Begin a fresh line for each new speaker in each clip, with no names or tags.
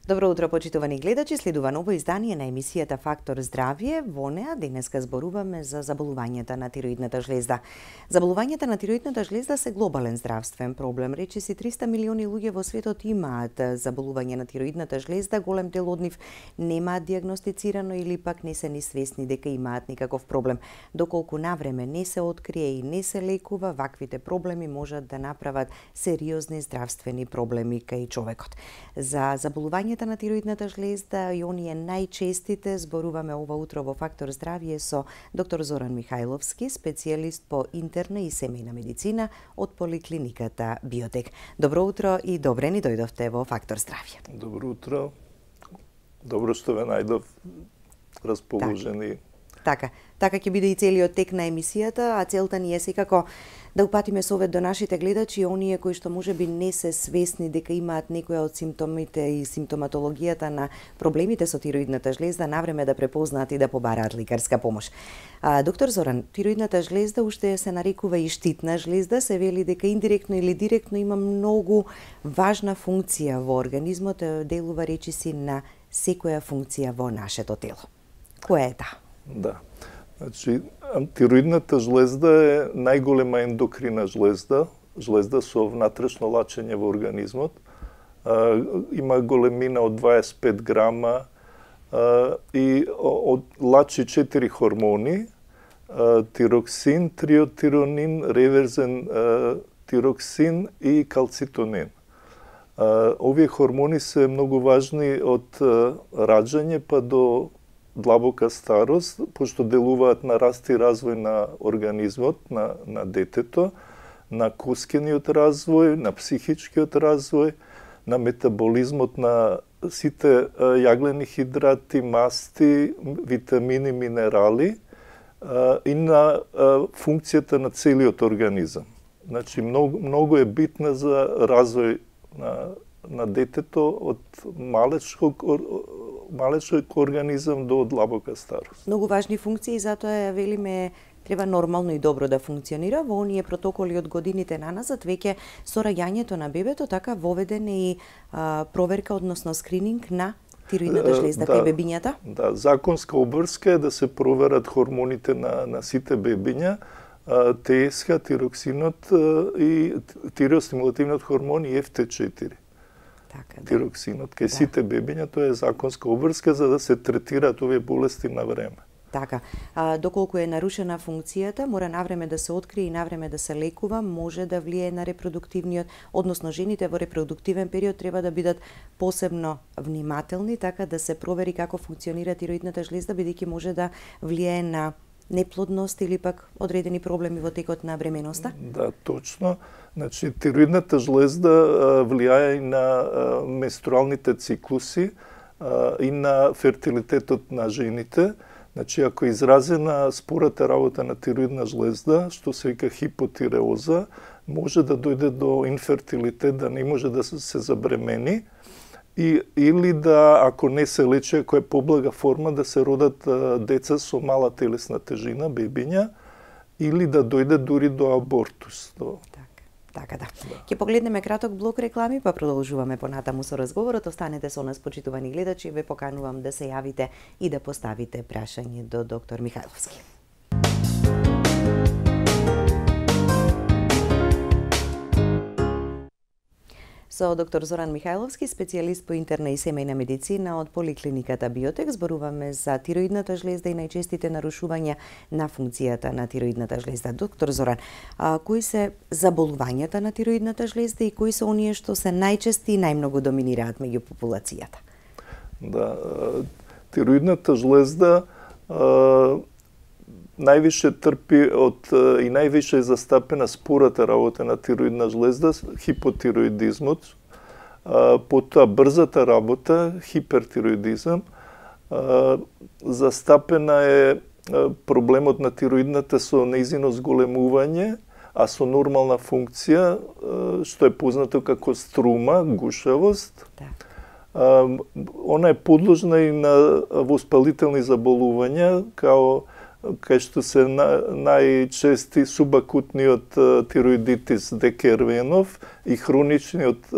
Добро утро, почитувани гледачи, следува ново издание на емисијата Фактор здравје. Во неа денеска зборуваме за заболувањата на тироидната жлезда. Заболувањата на тироидната жлезда се глобален здравствен проблем. Речиси 300 милиони луѓе во светот имаат заболување на тироидната жлезда, голем дел од нив немаат диагностицирано или пак не се ни свесни дека имаат никаков проблем. Доколку навреме не се открие и не се лекува, ваквите проблеми можат да направат сериозни здравствени проблеми кај човекот. За заболувањата на тироидната жлезда и оние најчестите зборуваме ова утро во Фактор здравје со доктор Зоран Михајловски, специјалист по интерна и семејна медицина од поликлиниката Биотек. Добро утро и добре ни дојдовте во Фактор здравје.
Добро утро. Добро што ве најдов расположени.
Така ќе биде и целиот тек на емисијата, а целта ни е секако да упатиме совет до нашите гледачи, оние кои што можеби не се свесни дека имаат некоја од симптомите и симптоматологијата на проблемите со тироидната жлезда, навреме да препознаат и да побараат лекарска помош. Доктор Зоран, тироидната жлезда уште се нарекува и штитна жлезда, се вели дека индиректно или директно има многу важна функција во организмот, делува речиси на секоја функција во нашето тело. Која е таа?
Да. Значи, тироидната жлезда е најголема ендокрина жлезда со внатрешно лачење во организмот. Има големина од 25 грама и лачи 4 хормони: тироксин, триотиронин, реверзен тироксин и калцитонин. Овие хормони се многу важни од раѓање па до длабока старост, пошто делуваат на раст и развој на организмот, на детето, на коскениот развој, на психичкиот развој, на метаболизмот на сите јаглени хидрати, масти, витамини, минерали и на функцијата на целиот организам. Значи, многу е битна за развој на детето од малечок организам до длабока старост.
Многу важни функции, затоа ја велиме треба нормално и добро да функционира. Во оние протоколи од годините наназад, веќе со раѓањето на бебето, така воведен и проверка, односно скрининг на тироидната жлезда кај бебињата?
Да, законска обврска е да се проверат хормоните на сите бебиња, ТСХ, тироксинот и тиреостимулативниот хормон и FT4. Тироксинот. Кај сите бебиња тоа е законска обврска за да се третираат овие болести на време.
Така. Доколку е нарушена функцијата, мора навреме да се открие и навреме да се лекува, може да влијае на репродуктивниот, односно жените во репродуктивен период треба да бидат посебно внимателни, така да се провери како функционира тироидната жлезда, бидејќи може да влијае на неплодност или пак одредени проблеми во текот на бременоста?
Да, точно. Значи, тироидната жлезда влијае и на менструалните циклуси и на фертилитетот на жените. Значи, ако е изразена спората работа на тироидна жлезда, што се вика хипотиреоза, може да дојде до инфертилитет, да не може да се забремени, или да, ако не се лечи, ако е поблага форма, да се родат деца со мала телесна тежина, бебиња, или да дојде дури до абортус.
Така да. Ќе погледнеме краток блок реклами, па продолжуваме понатаму со разговорот. Останете со нас, почитувани гледачи, ве поканувам да се јавите и да поставите прашање до доктор Михајловски. Со доктор Зоран Михајловски, специјалист по интерна и семејна медицина од поликлиниката Биотек, зборуваме за тироидната жлезда и најчестите нарушувања на функцијата на тироидната жлезда. Доктор Зоран, кои се заболувањата на тироидната жлезда и кои се оние што се најчести и најмногу доминираат меѓу популацијата?
Да, тироидната жлезда највише трпи од и највише е застапена спората работа на тироидна жлезда, хипотироидизмот, потоа брзата работа, хипертироидизам, застапена е проблемот на тироидната со нејзино зголемување, а со нормална функција, што е познато како струма, гушавост. Она е подложна и на воспалителни заболувања, кај што се најчести субакутниот тироидитис Декервенов и хроничниот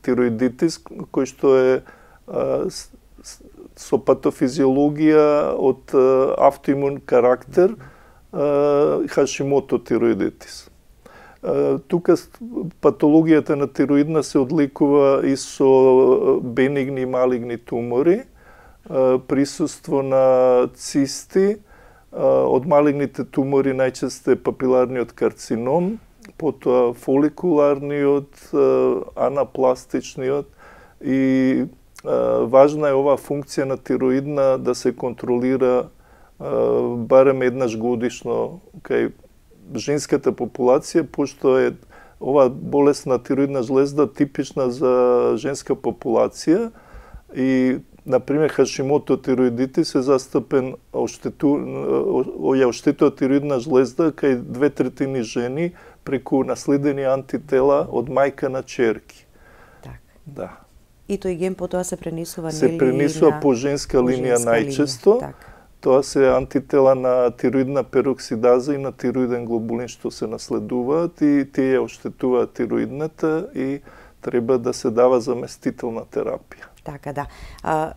тироидитис кој што е со патофизиологија од автоимун карактер, Хашимото тироидитис. Тука патологијата на тироидна се одликува и со бенигни и малигни тумори, присуство на цисти, од малигните тумори најчесто е папиларниот карцином, потоа фоликуларниот, анапластичниот и важна е оваа функција на тироидна да се контролира барем еднаш годишно кај женската популација, пошто е ова болест на тироидна жлезда типична за женска популација и например Хашимото тироидитис е застапен оштетува тироидна жлезда кај 2/3 жени преку наследени антитела од мајка на черки.
Так.
Да.
И тој ген потоа се пренесува
се пренесува по женска линија најчесто. Тоа се антитела на тироидна пероксидаза и на тироиден глобулин што се наследуваат и тие оштетуваат тироидната и треба да се дава заместителна терапија.
Така да.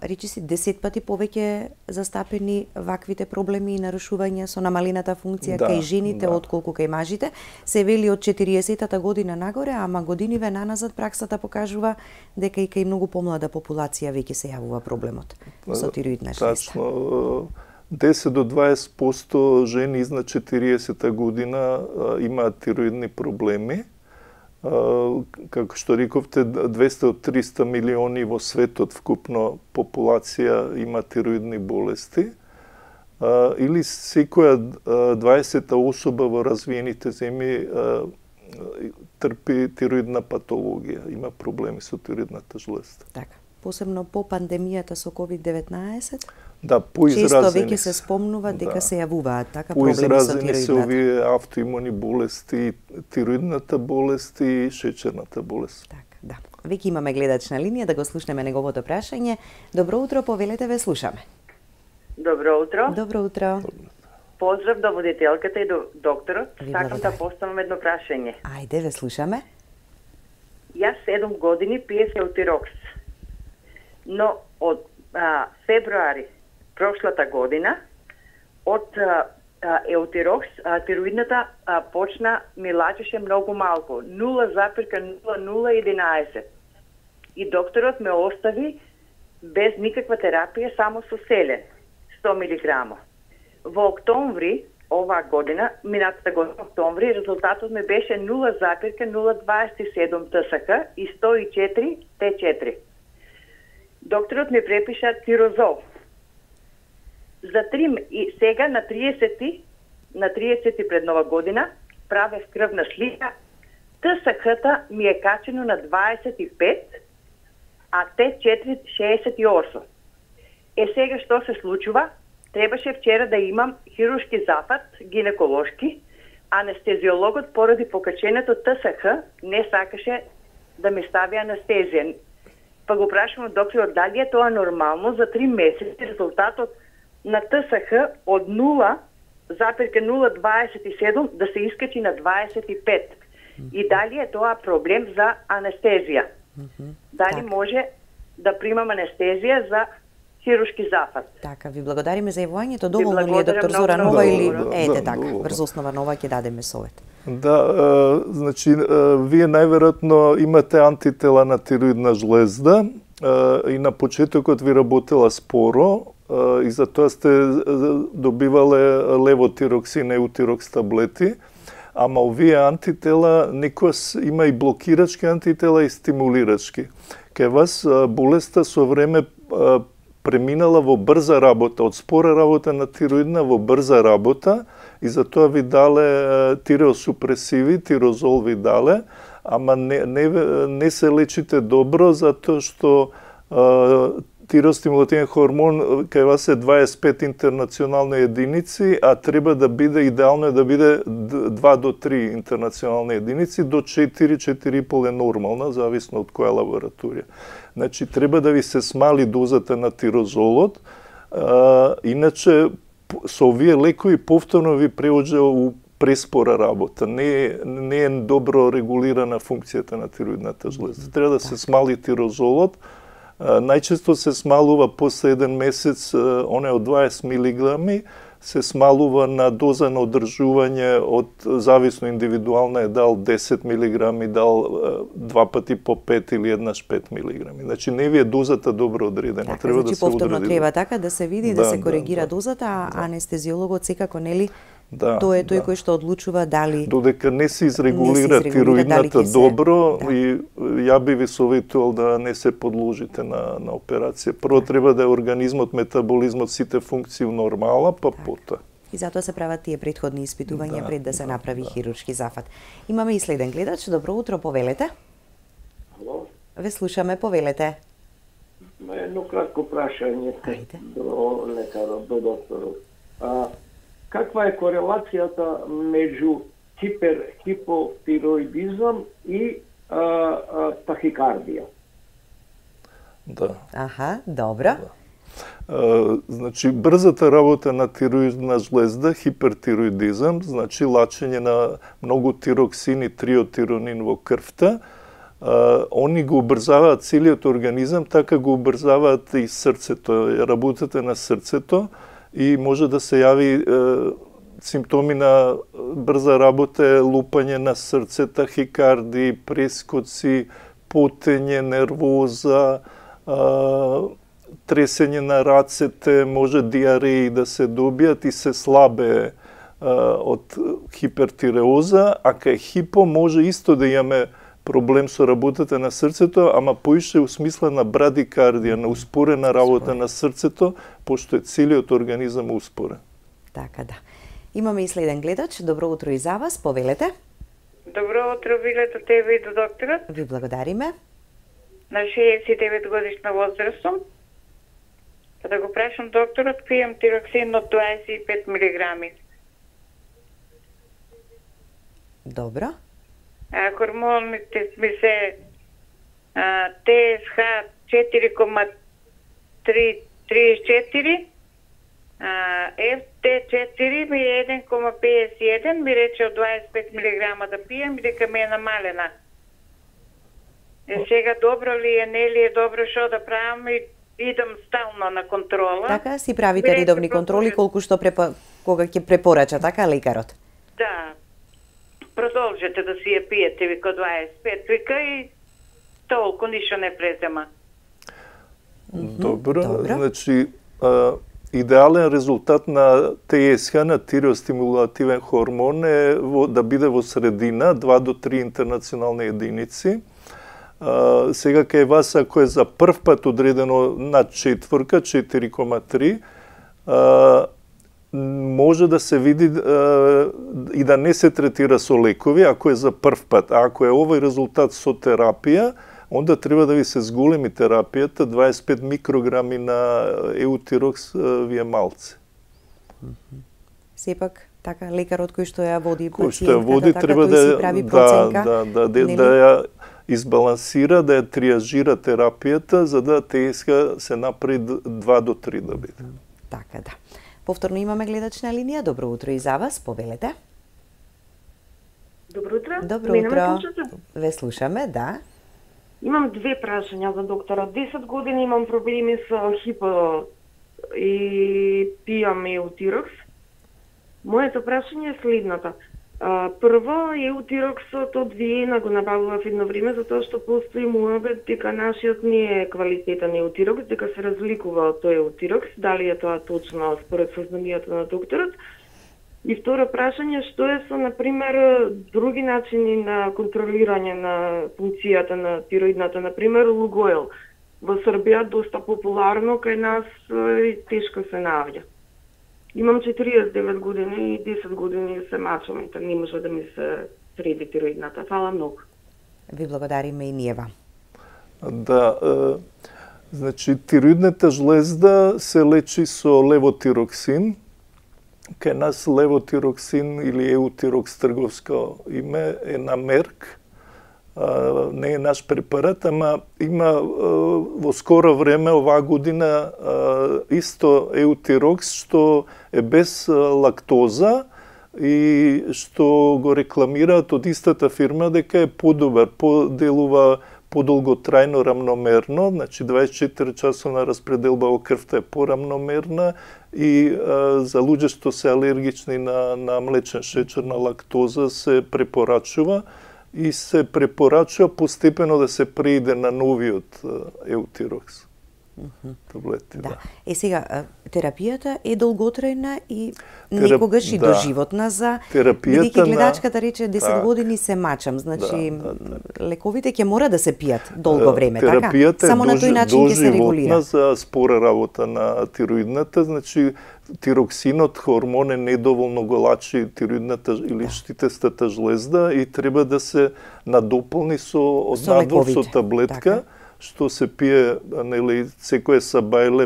Речи си 10 пати повеќе застапени ваквите проблеми и нарушувања со намалената функција кај жените отколку кај мажите. Се вели од 40-та година нагоре, ама годиниве наназад праксата покажува дека и кај многу помлада популација веќе се јавува проблемот со тироидна жлезда.
Тачно. 10 до 20% жени изнад 40-та година имаат тироидни проблеми. Како што рековте, 200-300 милиони во светот вкупно популација има тироидни болести. Или секоја 20-та особа во развиените земји трпи тироидна патологија, има проблеми со тироидната жлезда.
Така. Посебно по пандемијата со COVID-19?
Да, поизразени.
Често веќе се спомнува дека се јавуваат така проблеми со тироидната.
Поизразени се овие автоимуни болести, тироидната болест и шеќерната болест.
Така, да. Веќе имаме гледач на линија, да го слушнеме неговото прашање. Добро утро, повелете, ве слушаме.
Добро утро.
Добро утро.
Поздрав до водителката и до докторот. Сакам да поставам едно прашање.
Ајде, ве слушаме.
Јас 7 години пиев еутирокс. Но од февруари прошлата година од еутирокс тироидната почна ми лачеше многу малку, 0,0011. И докторот ме остави без никаква терапија, само со селен, 100 мг. Во октомври оваа година, минатата година октомври, резултатот ми беше 0,027 ТСХ и 104 Т4. Докторот ми препиша тирозол. За 3 и сега на 30 пред нова година правев крвна слика. ТСХ-та ми е качено на 25, а Т4 68. Сега што се случува? Требаше вчера да имам хируршки зафат, гинеколошки. Анестезиологот поради покаченото ТСХ не сакаше да ми стави анестезија. Па го прашувам докторот дали е тоа нормално за 3 месеци резултатот на ТСХ од 0,027 да се искачи на 25. И дали е тоа проблем за анестезија? Дали може да примам анестезија за хируршки зафат?
Така, ви благодариме за јавувањето. Доволно ли е доктор Зоранова или ете така, врз основа на ова ќе дадеме совет?
Да, значи, вие најверојатно имате антитела на тироидна жлезда и на почетокот ви работела споро и затоа сте добивале левотироксин, еутирокс таблети, ама овие антитела некојаш има и блокирачки антитела и стимулирачки. Кај вас болеста со време преминала во брза работа, од спора работа на тироидна во брза работа и затоа ви дале тиреосупресиви, тирозол ви дале, ама не се лечите добро затоа што тиростимулативен хормон кај вас е 25 интернационални единици, а треба да биде идеално е да биде 2 до 3 интернационални единици, до 4-4,5 е нормална, зависно од која лабораторија. Значи, треба да ви се смали дозата на тирозолот, иначе со овие лекови повторно ви преоѓа у преспора работа. Не е добро регулирана функцијата на тироидната жлезда. Треба да се смали тирозолот. Најчесто се смалува после 1 месец, оне од 20 милиграми, се смалува на доза на одржување од зависно индивидуална е дал 10 милиграми, дал 2 пати по 5 или еднаш 5 милиграми. Значи не ви е дозата добро одредена,
така,
треба
значи,
да се
повторно
одреди.
треба така да се види, да се коригира дозата, а анестезиологот секако нели тој е тој кој што одлучува дали
додека не се изрегулира тироидната добро и ја би ви советувал да не се подложите на операција. Прво треба да е организмот, метаболизмот, сите функции у нормала, па потоа.
И затоа се прават тие претходни испитувања пред да се направи хируршки зафат. Имаме и следен гледач. Добро утро, повелете.
Ало?
Ве слушаме, повелете.
Едно кратко прашање до лекарот, до докторот. Каква е корелацијата меѓу хипотироидизам и тахикардија?
Да.
Аха, добро.
Значи, брзата работа на тироидна жлезда, хипертироидизам, значи лачење на многу тироксин и триотиронин во крвта, они го убрзаваат целиот организам, така го убрзаваат и срцето, работата на срцето, и може да се јави симптоми на брза работа, лупање на срце, тахикарди, прескоци, потење, нервоза, тресење на рацете, може диареи да се добијат и се слабе од хипертиреоза, а кај хипо може исто да имаме проблем со работата на срцето, ама поише у смисла на брадикардија, на успорена работа на срцето, пошто е целиот организам успорен.
Така да. Имаме и следен гледач. Добро утро и за вас, повелете.
Добро утро, билето тебе и до докторот.
Ви благодариме.
На 69 годишна возраст сум. Да го прашам докторот, пијам тироксин од 25 милиграми.
Добро.
Хормоните ми се ТСХ 4,34, FT4 ми е 1,51, ми рече од 25 милиграма да пијам и дека ми е намалена. Сега добро ли е, не ли е добро, шо да правам и идам стално на контрола.
Така, си правите редовни контроли колку што кога ќе препорача, така, лекарот?
Да. Продолжете да си ја пиете, вика 25, вика и толку ништо не презема.
Добро. Значи, идеален резултат на ТСХ, на тиреостимулативен хормон, е да биде во средина, 2 до 3 интернационални единици. Сега кај вас, ако е за прв пат одредено над 4,3, може да се види и да не се третира со лекови, ако е за прв пат. А ако е овој резултат со терапија, онда треба да ви се зголеми терапијата, 25 микрограми на еутирокс ви е малце.
Сепак, така, лекарот кој што ја води
кој што ја води,
така,
треба
да си прави проценка,
да ја избалансира, да ја триажира терапијата, за да ТСХ се направи 2 до 3 да биде.
Така да. Повторно имаме гледач на линија. Добро утро и за вас, повелете.
Добро утро.
Добро утро. Ве слушаме, да.
Имам две прашања за доктора. 10 години имам проблеми со хипо и пијам еутирокс. Моето прашање е следната. Прво, еутироксот од Виена го набавував едно време, затоа што постои муабет дека нашиот не е квалитетен еутирокс, дека се разликува од тој еутирокс, дали е тоа точно според сознанијата на докторот. И второ прашање, што е со, например, други начини на контролирање на функцијата на тироидната, например, лугоел. Во Србија доста популарно, кај нас тешко се наоѓа. Имам 49 години и 10 години се мачам, не може да ми се среди тироидната. Фала многу.
Ви благодариме и ние вам.
Да, значи тироидната жлезда се лечи со левотироксин. Кај нас левотироксин или еутирокс трговско име е на Мерк. Не е наш препарат, ама има во скоро време, оваа година, исто еутирокс, што е без лактоза и што го рекламираат од истата фирма дека е подобар, поделува подолготрајно рамномерно, значи 24 часовна распределба во крвта е порамномерна и за луѓе што се алергични на млечен шеќер, на лактоза се препорачува и се препорачува постепено да се преиде на новиот еутирокс. Таблети, да.
Сега, терапијата е долготрајна и некогаш и доживотна за...
Бидејќи
гледачката рече 10 години се мачам, значи лековите ќе мора да се пијат долго време, така? Само на тој начин ќе се регулира.
За спора работа на тироидната, значи тироксинот, хормон е недоволно го лачи тироидната или штитестата жлезда и треба да се надополни со надвор со таблетка, што се пие, нели, секој сабајле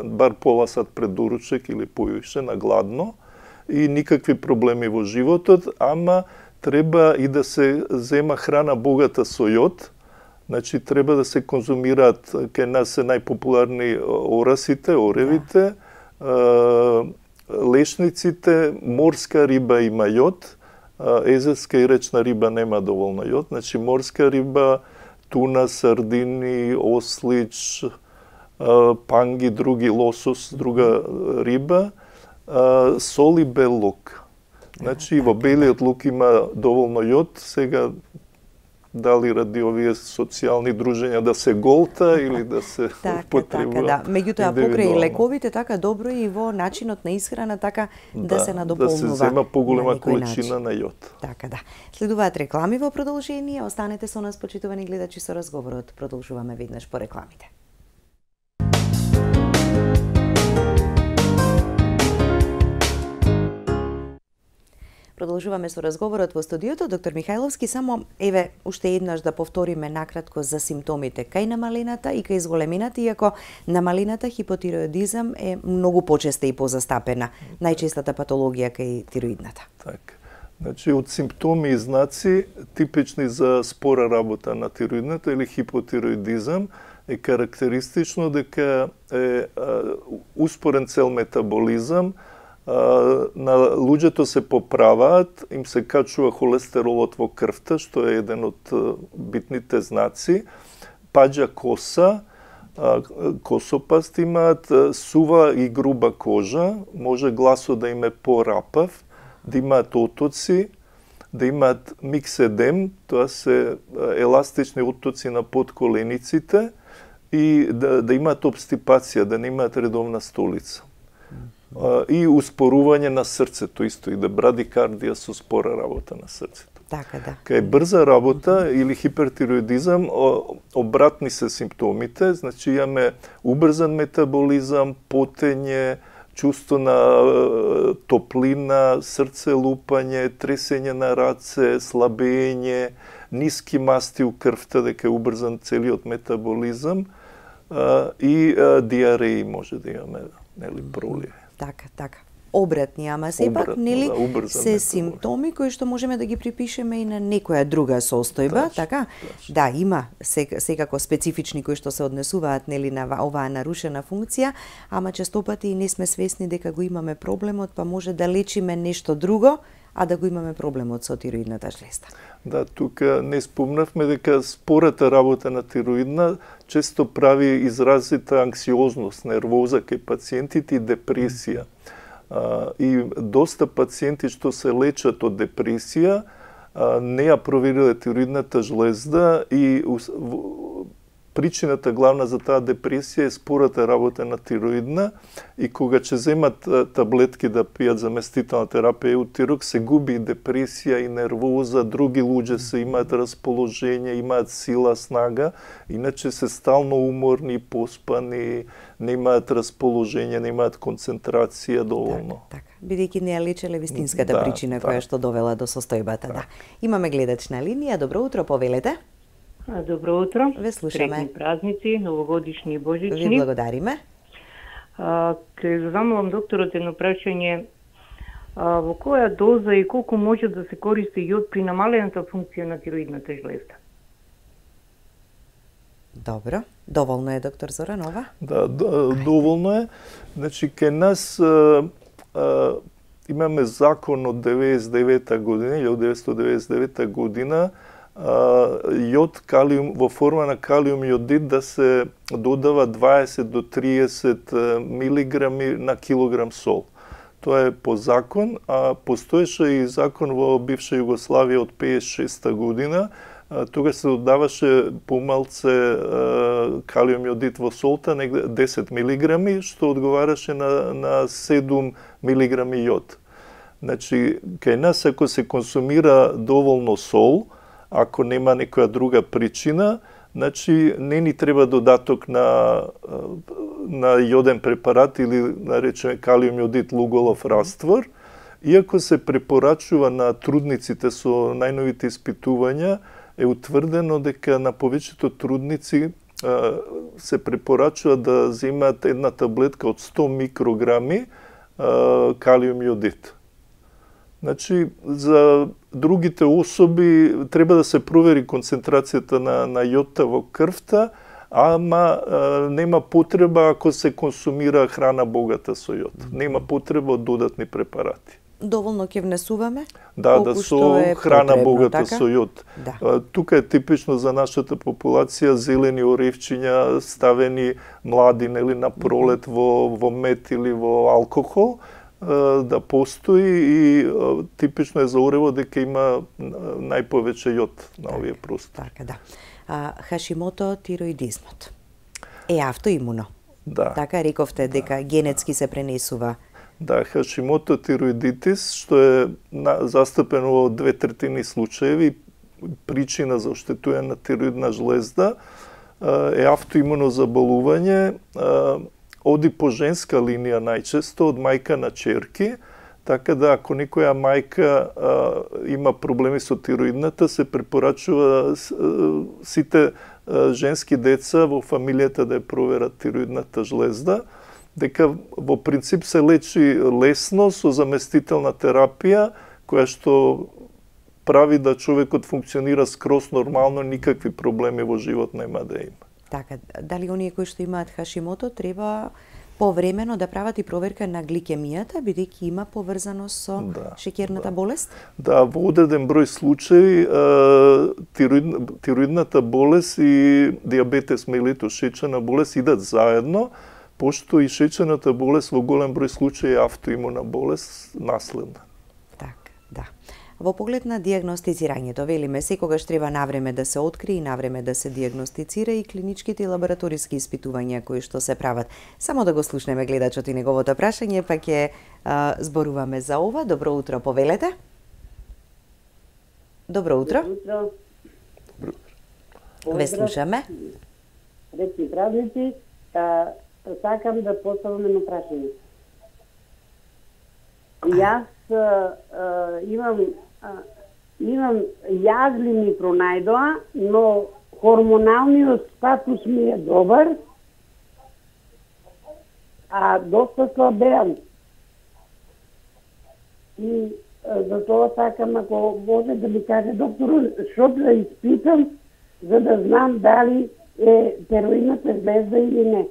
бар пола сат пред доручек или поише на гладно и никакви проблеми во животот, ама треба и да се зема храна богата со јод, значи треба да се конзумираат, кај нас се најпопуларни орасите, оревите, лешниците, морска риба има јод, езерска и речна риба нема доволно јод, значи морска риба, туна, сардини, ослич, панги, други лосос, друга риба, сол и бел лук. Значи во белиот лук има доволно јод, сега дали ради овие социјални дружења да се голта или да се употребува.
Да. Меѓутоа покрај лековите така добро и во начинот на исхрана така да се надополнува.
Да се зема поголема количина на јод.
Така да. Следуваат реклами во продолжение, останете со нас почитувани гледачи со разговорот. Продолжуваме веднаш по рекламите. Продолжуваме со разговорот во студиото. Доктор Михајловски, само еве уште еднаш да повториме накратко за симптомите кај намалената и кај зголемината, иако намалената хипотироидизам е многу почеста и позастапена. Најчестата патологија кај тироидната.
Така. Значи, од симптоми и знаци, типични за спора работа на тироидната или хипотироидизам, е карактеристично дека е успорен цел метаболизам, на луѓето се поправаат, им се качува холестеролот во крвта, што е еден од битните знаци, паѓа коса, косопаст имаат, сува и груба кожа, може гласот да им е порапав, да имаат отоци, да имаат микседем, тоа се еластични отоци на подколениците и да имаат обстипација, да не имаат редовна столица. И успорување на срцето исто, и да брадикардија со спора работа на срцето.
Така да.
Кај брза работа или хипертироидизам, обратни се симптомите, значи имаме убрзан метаболизам, потење, чувство на топлина, срце лупање, тресење на раце, слабење, ниски масти у крвта, дека е убрзан целиот метаболизам и диареи може да имаме, нели, пролие.
Така. Обратни, ама сепак, нели, се симптоми кои што можеме да ги припишеме и на некоја друга состојба, така? Да, има секако специфични кои што се однесуваат, нели, на оваа нарушена функција, ама честопати и не сме свесни дека го имаме проблемот, па може да лечиме нешто друго, а да го имаме проблемот со тироидната жлезда.
Да, тука не спомнавме дека спората работа на тироидна често прави изразита анксиозност, нервоза кај пациентите и депресија. И доста пациенти што се лечат од депресија не ја провериле тироидната жлезда и причината главна за таа депресија е спората работа на тироидна и кога ќе земат таблетки да пијат заместителна терапија еутирок, се губи депресија и нервоза, други луѓе се имаат расположение, имаат сила, снага, иначе се стално уморни, поспани, не имаат расположение, не имаат концентрација доволно.
Така. Бидејќи не ја лечеле вистинската причина која што довела до состојбата. Да. Имаме гледач на линија. Добро утро, повелете.
Добро утро.
Ве слушаме.
Среќни празници, новогодишни и божични.
Ви благодариме.
Ке замолам докторот едно прашање. Во која доза и колку може да се користи јод при намалената функција на тироидната жлезда?
Добро. Доволно е, доктор Зоранова?
Да, доволно е. Значи, кај нас имаме закон од 1999 година, јод калиум во форма на калиум јодид да се додава 20 до 30 милиграми на килограм сол. Тоа е по закон, а постоеше и закон во бивша Југославија од 56 година. Тога се додаваше помалце калиум јодид во солта, негде 10 милиграми, што одговараше на 7 милиграми јод. Значи, кај нас ако се консумира доволно сол, ако нема некоја друга причина, значи не ни треба додаток на јоден препарат или наречеме калиум јодид луголов раствор, иако се препорачува на трудниците со најновите испитувања, е утврдено дека на повеќето трудници се препорачува да земаат една таблетка од 100 микрограми калиум јодид. Значи, за другите особи треба да се провери концентрацијата на јодта во крвта, ама нема потреба ако се консумира храна богата со јод. Нема потреба од додатни препарати.
Доволно ќе внесуваме?
Да, со храна богата
така?
со јод.
Да.
Тука е типично за нашата популација зелени оревчиња ставени млади, нели, на пролет во мед или во алкохол, да постои и типично е за орево дека има најповеќе јод на овие простори.
Така, да. Хашимото тироидизмот е автоимуно.
Да.
Така рековте дека генетски се пренесува.
Да, Хашимото тироидитис, што е застапено во 2/3 случаеви, причина за оштетување на тироидна жлезда, е автоимуно заболување, оди по женска линија најчесто, од мајка на черки, така да ако некоја мајка има проблеми со тироидната, се препорачува сите женски деца во фамилијата да ја проверат тироидната жлезда, дека во принцип се лечи лесно со заместителна терапија, која што прави да човекот функционира скроз нормално, никакви проблеми во живот нема да има.
Така, дали оние кои што имаат Хашимото треба повремено да прават и проверка на гликемијата, бидејќи има поврзано со шеќерната болест?
Да, во одреден број случаи тироидната болест и диабетес мелитус, шеќерна болест идат заедно, пошто и шеќерната болест во голем број случаи е автоимуна болест, наследна.
Така, да. Во поглед на дијагностицирањето, велиме, секогаш треба навреме да се открие и навреме да се дијагностицира и клиничките и лабораториски испитувања кои што се прават. Само да го слушнеме гледачот и неговото прашање, па ќе зборуваме за ова. Добро утро, повелете. Добро утро.
Добро утро.
Ве слушаме.
Среќни празници. Сакам да поставам едно прашање. Јас имам јазлини пронајдоа, но хормоналниот статус ми е добар, а доста слабеам. И за тоа сакам, ако може да ми каже доктор, што да испитам, за да знам дали е тироидната жлезда или не.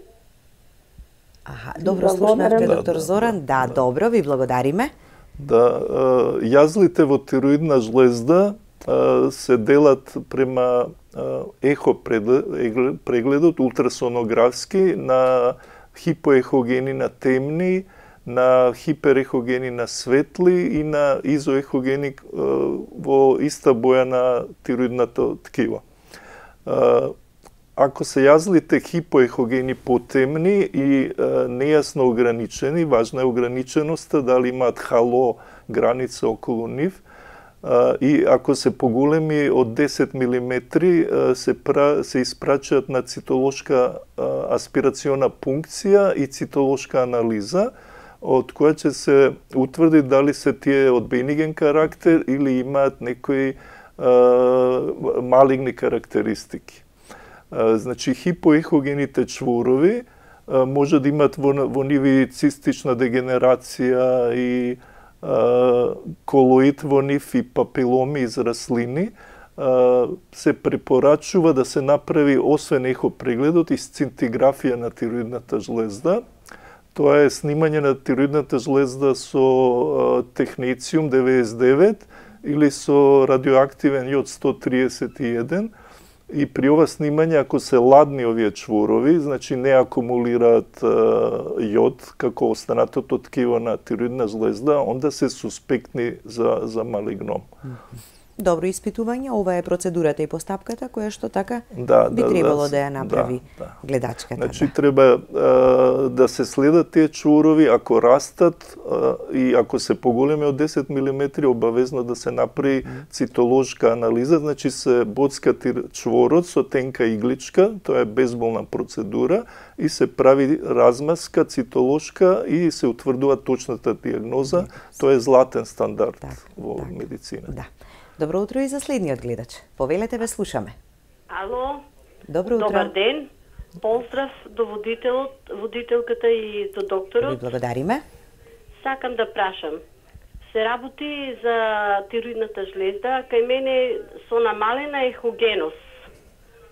Добро слушнавте, доктор Зоран. Да, добро, ви благодариме.
Да, јазлите во тироидна жлезда се делат према ехо прегледот, ултрасонографски, на хипоехогени на темни, на хиперехогени на светли и на изоехогени во иста боја на тироидната ткива. Ако се јазлите хипоехогени потемни и нејасно ограничени, важна е ограниченоста, дали имаат хало граница околу нив, и ако се поголеми од 10 мм, се испрачаат на цитолошка аспирациона пункција и цитолошка анализа, од која ќе се утврди дали се тие од бениген карактер или имаат некои малигни карактеристики. Значи, хипоехогените чворови може да имат во нив цистична дегенерација и колоид во нив и папиломи израслини. Се препорачува да се направи освен ехопрегледот и сцинтиграфија на тироидната жлезда. Тоа е снимање на тироидната жлезда со технециум 99 или со радиоактивен јод 131. И при ова снимање, ако се ладни овие чворови, значи не акумулираат јод како останатото ткиво на тироидна жлезда, онда се суспектни за малигном.
Добро испитување, ова е процедурата и постапката која што така би требало да ја направи гледачката.
Значи треба да се следат тие чворови, ако растат и ако се поголеми од 10 мм, обавезно да се направи цитолошка анализа, значи се боцка чворот со тенка игличка, тоа е безболна процедура, и се прави размазка цитолошка и се утврдува точната диагноза. Тоа е златен стандард во медицина.
Добро утро и за следниот гледач. Повелете, ве слушаме.
Ало.
Добро утро.
Добар ден. Поздрав до водителката и до докторот.
Ви благодариме.
Сакам да прашам. Се работи за тироидната жлезда, кај мене со намалена ехогеност.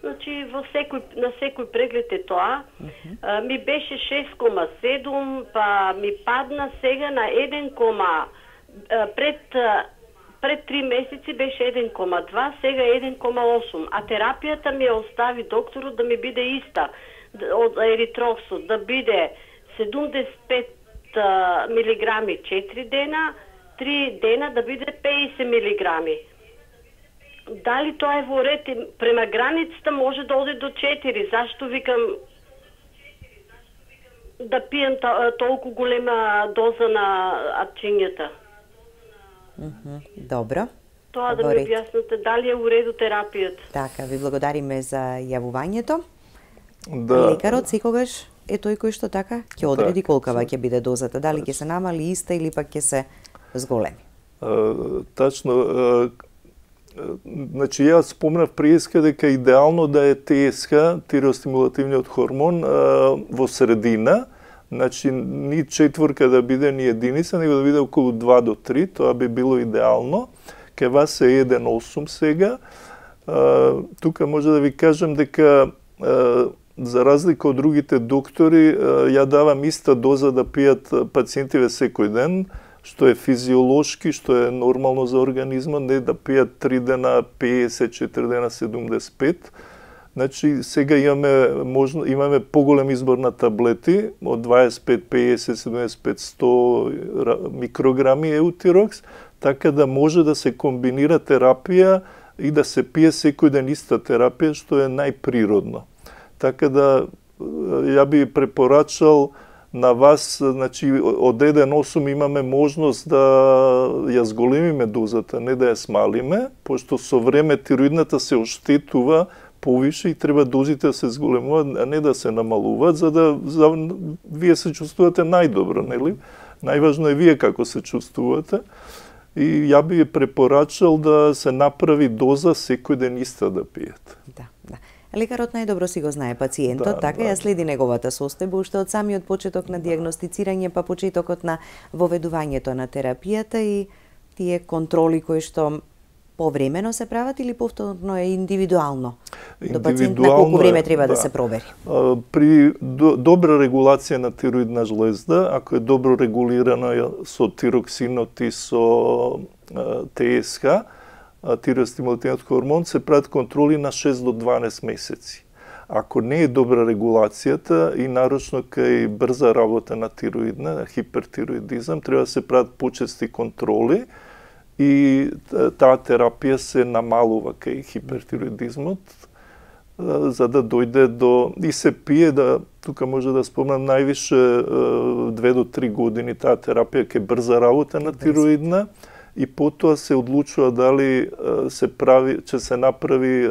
Значи, на секој преглед е тоа. Ми беше 6,7, па ми падна сега на 1, пред 3 месеци беше 1,2, сега 1,8. А терапијата ми остави докторот да ми биде иста од еритроксот, да биде 75 милиграми 4 дена, 3 дена да биде 50 милиграми. Дали тоа е во ред? Према границата може да оде до 4. Зашто викам да пием толку голема доза на атчињата?
Добро.
Тоа да ми објасните, дали е уреду терапијата?
Така, ви благодариме за јавувањето. Лекарот секогаш е тој кој што така ќе одреди колкава ќе биде дозата, дали ќе се намали иста или пак ќе се зголеми.
Тачно, значи јас спомнав преска дека идеално да е ТСХ, тиреостимулативниот хормон, во средина. Значи, ни 4 да биде, ни единица, него да биде околу 2 до 3, тоа би било идеално. Кај вас е 1,8 сега. Тука може да ви кажем дека, за разлика од другите доктори, ја давам иста доза да пијат пациентиве секој ден, што е физиолошки, што е нормално за организмот, не да пијат 3 дена 50, 4 дена 75. Значи, сега имаме поголем избор на таблети, од 25, 50, 75, 100 микрограми еутирокс, така да може да се комбинира терапија и да се пие секој ден иста терапија, што е најприродно. Така да, ја би препорачал на вас, значи, од 1,8 имаме можност да ја зголемиме дозата, не да ја смалиме, пошто со време тироидната се оштетува повише и треба дозите да се зголемуваат, а не да се намалуваат, за да вие се чувствувате најдобро, нели? Најважно е вие како се чувствувате. И ја би препорачал да се направи доза секој ден иста да пиете.
Да. Лекарот најдобро си го знае пациентот, така ја следи неговата состојба уште од самиот почеток на дијагностицирање, па почетокот на воведувањето на терапијата и тие контроли кои што повремено се прават или повторно е индивидуално? До пациент на колку време треба да се провери?
При добра регулација на тироидна жлезда, ако е добро регулирано со тироксинот и со ТСХ, тиреостимулативниот хормон, се прават контроли на 6 до 12 месеци. Ако не е добра регулацијата и нарочно кај брза работа на тироидна, хипертироидизам, треба да се прават почести контроли и таа терапија се намалува кај хипертироидизмот, за да дојде до... И се пие, тука може да спомнам, највише 2 до 3 години таа терапија кај брза работа на тироидна, и потоа се одлучува дали ќе се направи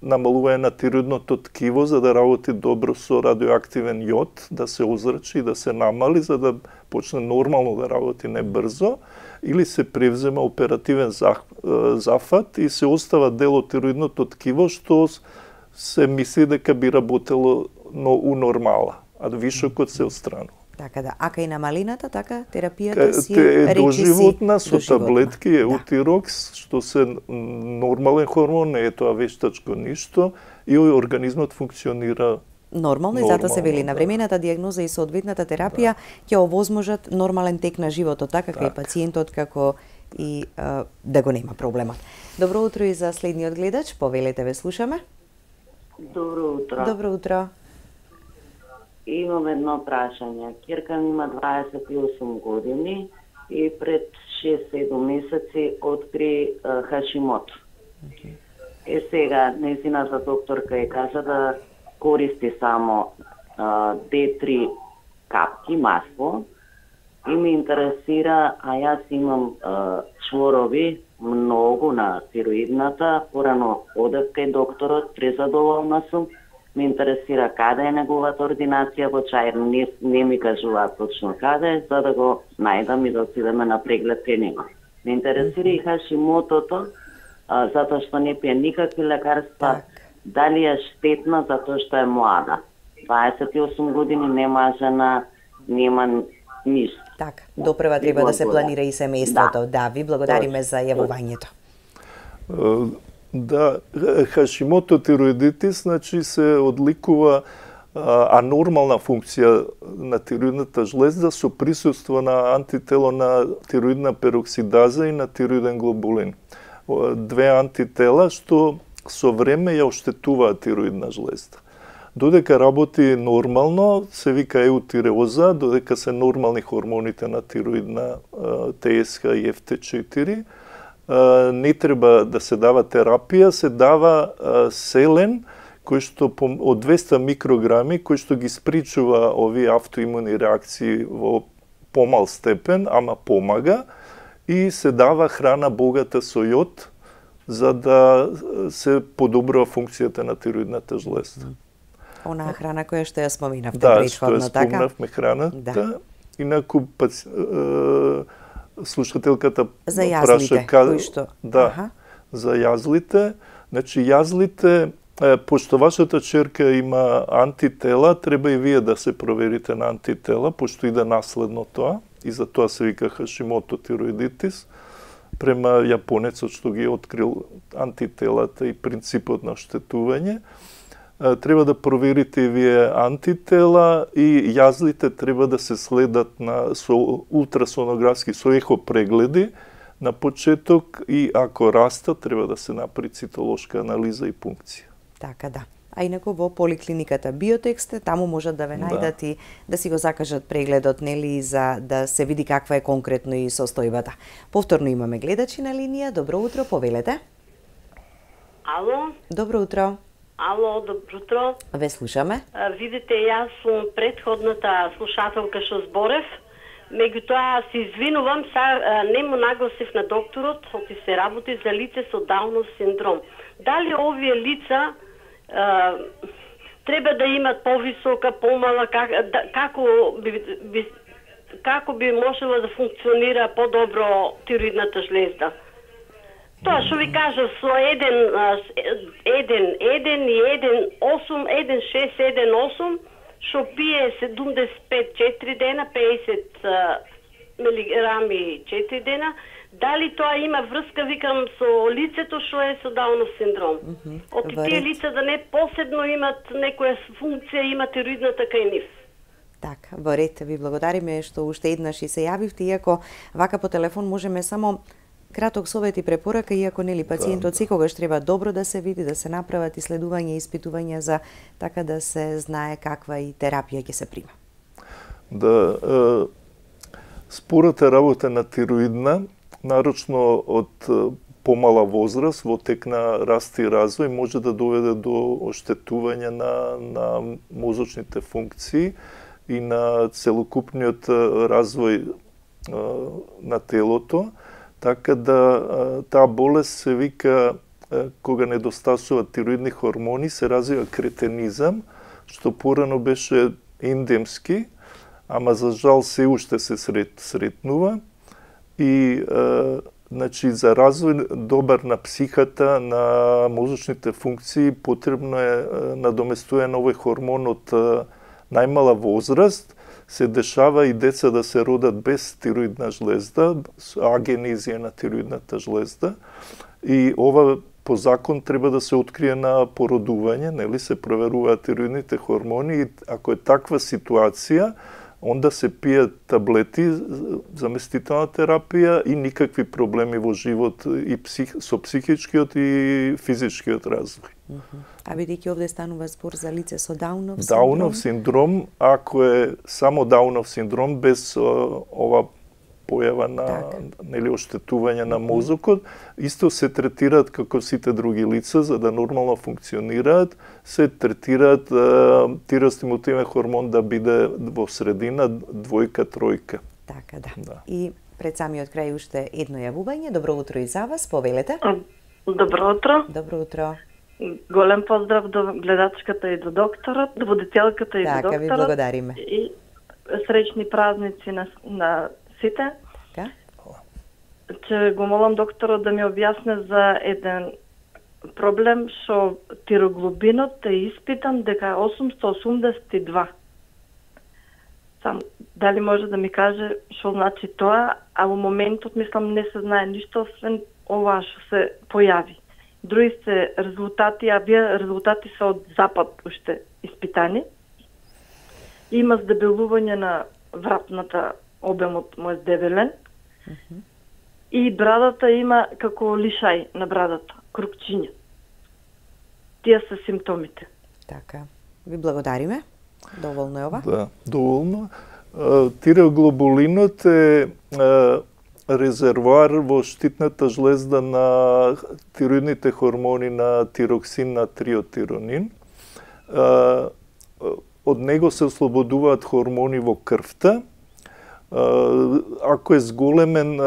намалување на тироидното ткиво за да работи добро со радиоактивен јод, да се озрачи и да се намали за да почне нормално да работи, не брзо, или се превзема оперативен зафат и се остава дел од тироидното ткиво што се мисли дека би работело у нормала, а вишокот се отстранува.
Така да, ака и на малината, така терапијата си
е доживотна со таблетки еутирокс, што се нормален хормон, не е тоа вештачко ништо, и организмот функционира
нормално и затоа се вели навремената диагноза и соодветната терапија ќе овозможат нормален тек на животот, така како и пациентот, како и да го нема проблемот. Добро утро и за следниот гледач, повелете, ве слушаме.
Добро утро.
Добро утро.
Имам едно прашање. Ќерка ми има 28 години и пред 6-7 месеци откри Хашимото. Сега, нејзината докторка ја кажа да користи само D3 капки масло и ми интересира, а јас имам чворови многу на тироидната, порано одев кај докторот, презадоволна сум, ме интересира каде е неговата ординација во Чаир, не ми кажуваат точно каде, за да го најдам и да отидеме на преглед кај него. Ме интересира и Хашимотото, затоа што не пие никакви лекарства, дали е штетна затоа што е млада. 28 години, нема жена, нема ништо.
Така, допрева треба да се планира и семејството. Да, ви благодариме за јавувањето.
Да, Хашимото тироидитис, значи се одликува анормална функција на тироидната жлезда со присуство на антитело на тироидна пероксидаза и на тироиден глобулин. Две антитела што со време ја оштетуваат тироидна жлезда. Додека работи нормално, се вика еутиреоза, додека се нормални хормоните на тироидна ТСХ и FT4, не треба да се дава терапија, се дава селен, кој што од 200 микрограми, кој што ги спричува овие автоимуни реакции во помал степен, ама помага, и се дава храна богата со јод, за да се подобрува функцијата на тироидната жлезда.
Онаа храна која што ја споминавте
Да,
претходно,
што ја спомнавме храната. Инаку слушателката
за јазлите, кои што?
Да, за јазлите. Значи, јазлите, пошто вашата черка има антитела, треба и вие да се проверите на антитела, пошто иде наследно тоа, и за тоа се вика Хашимото тироидитис, према јапонецот што ги открил антителата и принципот на оштетување. Треба да проверите и вие антитела и јазлите треба да се следат со ултрасонографски, со ехо прегледи на почеток, и ако растат, треба да се направи цитолошка анализа и пункција.
Така да. А инаку во поликлиниката Биотексте, таму можат да ве најдат и да си го закажат прегледот, нели, за да се види каква е конкретно и состојбата. Повторно имаме гледачи на линија. Добро утро, повелете.
Ало?
Добро утро.
Ало, добро утро.
Ве слушаме.
Видите, јас сум претходната слушателка што зборев, меѓутоа се извинувам, не му нагласив на докторот, оти се работи за лице со Даунов синдром. Дали овие лица треба да имат повисока, помала, како би можела да функционира подобро тироидната жлезда? Тоа што ви кажа, со 1,8, што пие 75 4 дена, 50 милиграми 4 дена, дали тоа има врска, викам, со лицето што е со Даунов синдром? Оти тие лица да не посебно имат некоја функција, има тироидната кај нив.
Така, во ред, ви благодариме што уште еднаш и се јавивте, иако вака по телефон можеме само краток совет и препорака, иако нели пациентот секогаш треба добро да се види, да се направат исследувања и испитувања за така да се знае каква и терапија ќе се прима.
Да, спората работа на тироидна, нарочно од помала возраст, во тек на раст и развој, може да доведе до оштетување на мозочните функции и на целокупниот развој на телото. Така да таа болест се вика, кога недостасуваат тироидни хормони, се развива кретенизам, што порано беше ендемски, ама за жал се уште се сретнува. И значи, за развој добар на психата, на мозочните функции, потребно е надоместување на овој хормон од најмала возраст. Се дешава и деца да се родат без тироидна жлезда, агенезија на тироидната жлезда. И ова по закон треба да се открие на породување, нели се проверуваат тироидните хормони и ако е таква ситуација, онда се пијат таблети, заместителна терапија и никакви проблеми во живот и со психичкиот и физичкиот развој.
А бидејќи овде станува збор за лице со Даунов синдром?
Даунов синдром, ако е само Даунов синдром без ова појава на нели оштетување на мозокот, исто се третираат како сите други лица за да нормално функционираат, се третираат тиростимулативен хормон да биде во средина 2-3.
Така да. И пред самиот крај уште едно јавување. Добро утро и за вас, повелете.
Добро утро.
Добро утро.
Голем поздрав до гледачката и до докторот, до водителката и до докторот.
Така, ви благодариме.
И среќни празници на сите.
Така?
Че го молам докторот да ми објасне за еден проблем што тироглобинот е испитан дека е 882. Сам дали може да ми каже што значи тоа, а во моментот мислам не се знае ништо освен ова што се појави. Други се резултати, а вие резултати се од запад уште испитани. Има здебелување на вратната, обемот му е здебелен. И брадата има како лишај на брадата, крупчиња. Тие се симптомите.
Така. Ви благодариме. Доволно е ова?
Да, доволно. Тироглобулинот е резервоар во штитната жлезда на тироидните хормони на тироксин на триотиронин. Од него се ослободуваат хормони во крвта. Ако е зголемен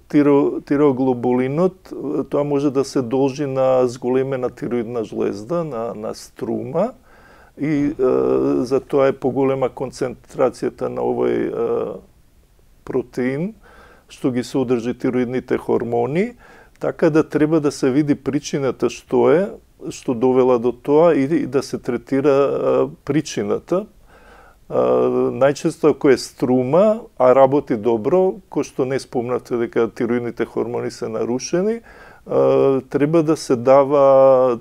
тироглобулинот, тоа може да се должи на зголемена тироидна жлезда, на струма, и за тоа е поголема концентрацијата на овој протеин, што ги содржи тироидните хормони, така да треба да се види причината што довела до тоа и да се третира причината. Најчесто ако е струма, а работи добро, кој што не спомнате дека тироидните хормони се нарушени, треба да се дава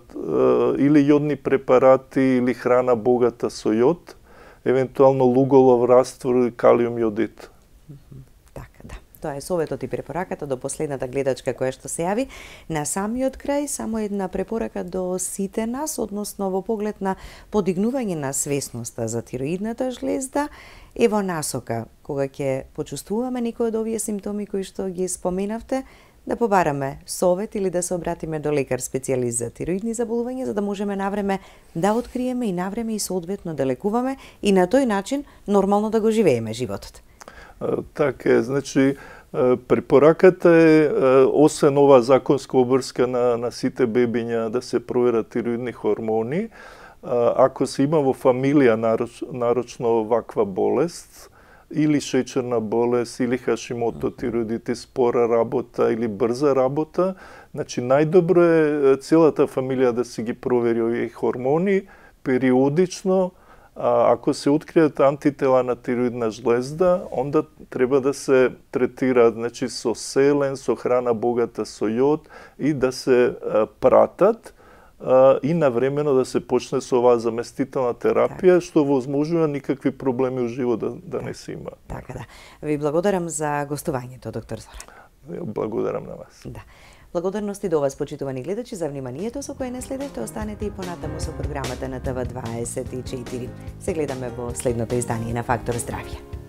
или јодни препарати или храна богата со јод, евентуално луголов раствор, калиум јодит.
Така, да. Тоа е советот и препораката до последната гледачка која што се јави. На самиот крај, само една препорака до сите нас, односно во поглед на подигнување на свесноста за тироидната жлезда, е во насока, кога ќе почувствуваме некои од овие симптоми кои што ги споменавте, да побараме совет или да се обратиме до лекар специјалист за тироидни заболувања, за да можеме навреме да откриеме и навреме и соодветно да лекуваме и на тој начин нормално да го живееме животот.
Така е, значи препораката е, освен ова законска обврска на сите бебиња да се проверат тироидни хормони, ако се има во фамилија нарочно ваква болест, или шеќерна болест, или хашимото тироидитис, спора работа или брза работа, значи најдобро е целата фамилија да си ги провери овие хормони периодично. Ако се откријат антитела на тироидна жлезда, онда треба да се третираат, значи со селен, со храна богата со јод и да се пратат и навремено да се почне со оваа заместителна терапија, што возможува никакви проблеми во живот да не се има.
Така да. Ви благодарам за гостувањето, доктор Зоран.
Благодарам на вас.
Да. Благодарности до вас, почитувани гледачи, за вниманието со кое не следевте. Останете и понатаму со програмата на ТВ24. Се гледаме во следното издание на Фактор здравје.